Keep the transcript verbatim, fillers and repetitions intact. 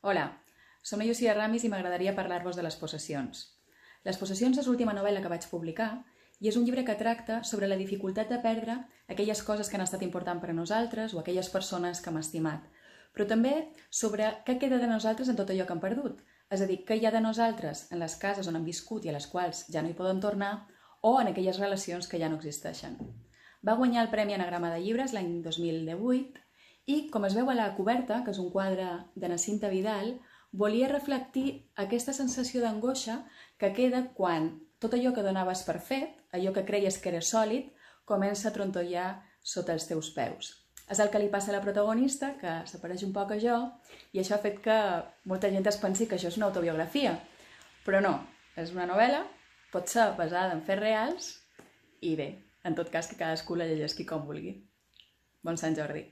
Hola, som la Llucia Ramis i m'agradaria parlar-vos de Les possessions. Les possessions és l'última novel·la que vaig publicar i és un llibre que tracta sobre la dificultat de perdre aquelles coses que han estat importants per a nosaltres o aquelles persones que hem estimat, però també sobre què queda de nosaltres en tot allò que hem perdut, és a dir, què hi ha de nosaltres en les cases on hem viscut i a les quals ja no hi podem tornar o en aquelles relacions que ja no existeixen. Va guanyar el Premi Anagrama de Llibres l'any dos mil divuit i, com es veu a la coberta, que és un quadre de na Cinta Vidal, volia reflectir aquesta sensació d'angoixa que queda quan tot allò que donaves per fet, allò que creies que era sòlid, comença a trontollar sota els teus peus. És el que li passa a la protagonista, que s'apareix un poc a jo, i això ha fet que molta gent es pensi que això és una autobiografia. Però no, és una novel·la, pot ser basada en fets reals, i bé, en tot cas que cadascú la llegeixi com vulgui. Bon Sant Jordi!